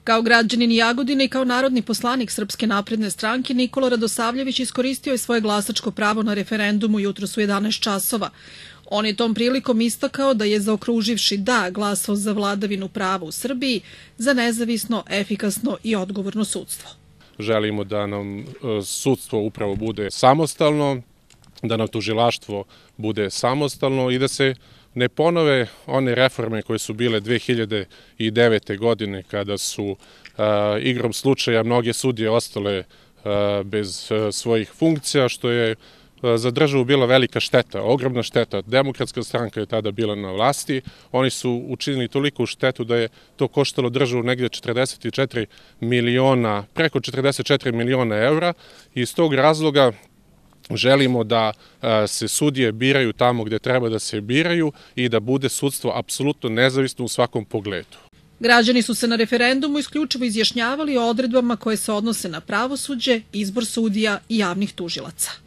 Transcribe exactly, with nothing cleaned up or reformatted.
Kao građanin Jagodine i kao narodni poslanik Srpske napredne stranke, Nikola Radosavljević iskoristio je svoje glasačko pravo na referendumu jutros u jedanaest časova. On je tom prilikom istakao da je, zaokruživši da, glasao za vladavinu prava u Srbiji, za nezavisno, efikasno i odgovorno sudstvo. Želimo da nam sudstvo upravo bude samostalno, da nam tužilaštvo bude samostalno i da se ne ponove one reforme koje su bile dve hiljade devete. godine kada su a, igrom slučaja mnoge sudije ostale a, bez a, svojih funkcija, što je a, za državu bila velika šteta, ogromna šteta. Demokratska stranka je tada bila na vlasti, oni su učinili toliko štetu da je to koštalo državu negdje četrdeset četiri miliona, preko četrdeset četiri miliona evra i iz tog razloga želimo da se sudije biraju tamo gdje treba da se biraju i da bude sudstvo apsolutno nezavisno u svakom pogledu. Građani su se na referendumu isključivo izjašnjavali o odredbama koje se odnose na pravosuđe, izbor sudija i javnih tužilaca.